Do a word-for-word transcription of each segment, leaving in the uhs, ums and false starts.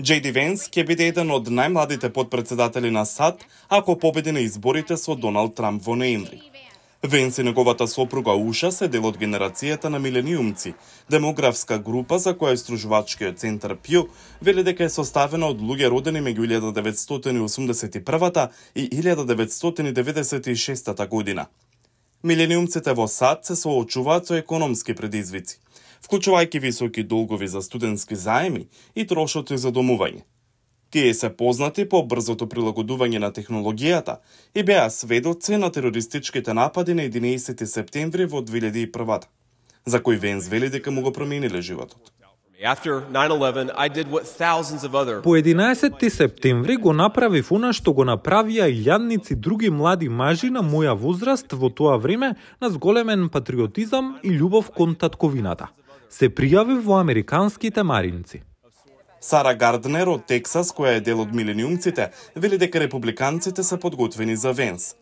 Джей Ди Венс ќе биде еден од најмладите подпредседатели на САД ако победи на изборите со Доналд Трамп во ноември. Венс и неговата сопруга Уша се дел од генерацијата на милениумци, демографска група за која истражувачкиот центар Пју вели дека е составена од луѓе родени меѓу илјада деветстотини и осумдесет и прва и илјада деветстотини деведесет и шеста година. Милениумците во САД се соочуваат со економски предизвици, вклучувајќи високи долгови за студентски заеми и трошоци за домување. Тие се познати по брзото прилагодување на технологијата и беа сведоци на терористичките напади на единаесети септември во две илјади и прва, за кој Венс вели дека му го промениле животот. По единаесети септември го направив она што го направија илјадници други млади мажи на моја возраст во тоа време на зголемен патриотизам и љубов кон татковината. Се пријавив во американските маринци. Сара Гарднер од Тексас, која е дел од милениумците, вели дека републиканците се подготвени за Венс.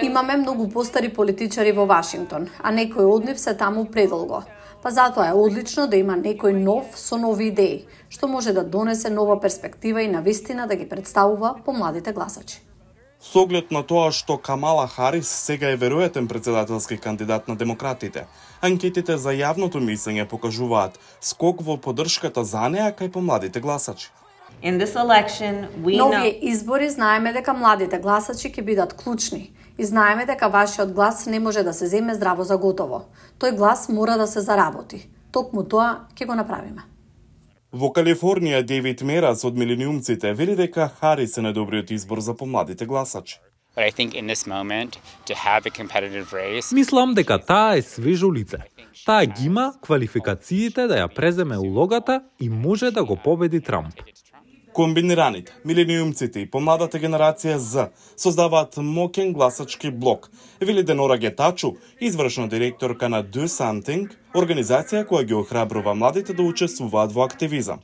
Имаме многу постари политичари во Вашингтон, а некои од нив се таму предолго. Па затоа е одлично да има некој нов со нови идеи, што може да донесе нова перспектива и навистина да ги представува по младите гласачи. Со оглед на тоа што Камала Харис сега е веројатен председателски кандидат на демократите, анкетите за јавното мислење покажуваат скок во поддршката за неа кај помладите гласачи. На овие избори знаеме дека младите гласачи ќе бидат клучни и знаеме дека вашиот глас не може да се земе здраво за готово. Тој глас мора да се заработи. Токму тоа ќе го направиме. Во Калифорнија Дейвид Мерас од милениумците вели дека Харис е најдобриот избор за помладите гласачи. Мислам дека таа е свежо лице. Таа ги има квалификациите да ја преземе улогата и може да го победи Трамп. Комбинираните, милениумците и помладата генерација Z создаваат моќен гласачки блок, вели Денора Гетачу, извршна директорка на Do Something, организација која ги охрабрува младите да учествуваат во активизам.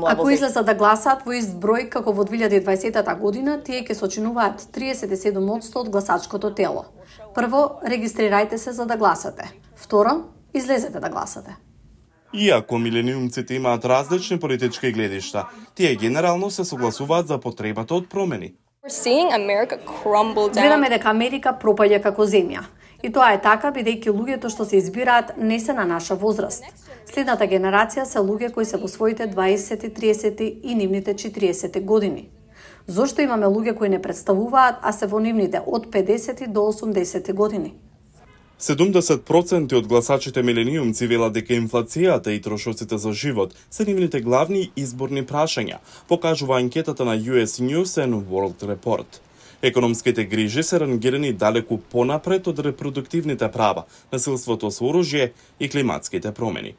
Ако излезат да гласаат во ист број како во две илјади и дваесета година, тие ќе сочинуваат триесет и седум одсто од гласачкото тело. Прво, регистрирајте се за да гласате. Второ, излезете да гласате. Иако милениумците имаат различни политички гледишта, тие генерално се согласуваат за потребата од промени. Гледаме дека Америка пропаѓа како земја. И тоа е така бидејќи луѓето што се избираат не се на наша возраст. Следната генерација се луѓе кои се во своите дваесети, триесети и нивните четириесети години. Зошто имаме луѓе кои не представуваат, а се во нивните од педесети до осумдесети години? седумдесет проценти од гласачите милениумци велат дека инфлацијата и трошоците за живот се нивните главни изборни прашања, покажува анкетата на Ю Ес News and World Report. Економските грижи се рангирани далеку понапред од репродуктивните права, насилството со оружје и климатските промени.